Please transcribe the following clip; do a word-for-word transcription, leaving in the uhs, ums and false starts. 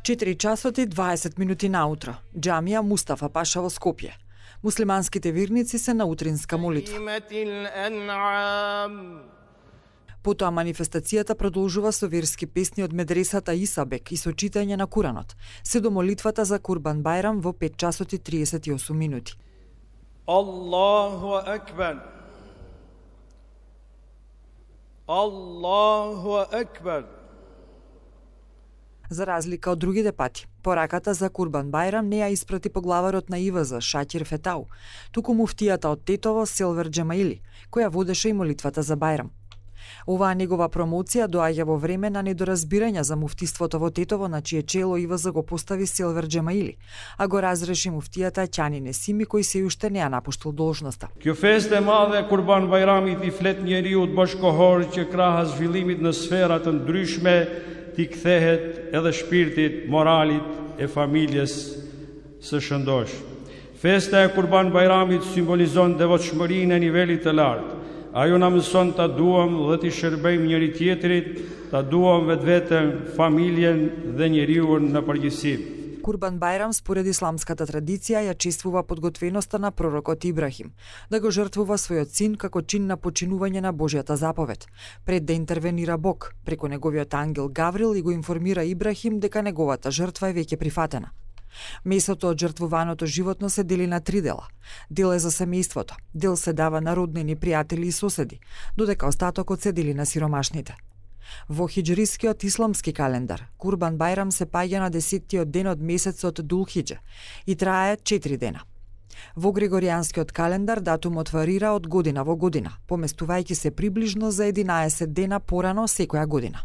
четири часот и дваесет минути наутро. Џамија Мустафа Паша во Скопје. Муслиманските верници се на утринска молитва. Потоа манифестацијата продолжува со верски песни од медресата Исабек и со читање на Куранот, се до молитвата за Курбан Бајрам во пет часот и триесет и осум минути. Аллаху акбар. Аллаху акбар. За разлика од другите пати, пораката за Курбан Бајрам не ја испрати поглаварот на И В З Шакир Фетау, туку муфтијата од Тетово Селвер Џемаили, која водеше и молитвата за Бајрам. Оваа негова промоција доаѓа во време на недоразбирање за муфтиството во Тетово, на чие чело И В З го постави Селвер Џемаили, а го разреши муфтијата Ќани Несими, кој се уште не ја напуштил должноста. Kjo festë e madhe Kurban Bajramit i flet njeriu bashkohor që krahas zhvillimit në sfera të ndryshme ti kthehet edhe shpirtit, moralit e familjes së shëndosh. Festa e Kurban Bajramit simbolizon devotshmërinë e nivelit të lartë. Ajo na mëson ta duam dhe t'i shërbejmë njëri tjetrit, ta duam vetveten, familjen dhe njeriun në përgjithësi. Курбан Бајрам според исламската традиција ја чествува подготвеноста на пророкот Ибрахим, да го жртвува својот син како чин на починување на Божјата заповед, пред да интервенира Бог, преку неговиот ангел Гаврил и го информира Ибрахим дека неговата жртва е веќе прифатена. Месото од жртвуваното животно се дели на три дела. Дел е за семејството, дел се дава на роднини, пријатели и соседи, додека остатокот се дели на сиромашните. Во хиџрискиот исламски календар, Курбан Бајрам се паѓа на десеттиот ден од месецот Дулхиџа и трае четири дена. Во григоријанскиот календар датумот варира од година во година, поместувајќи се приближно за единаесет дена порано секоја година.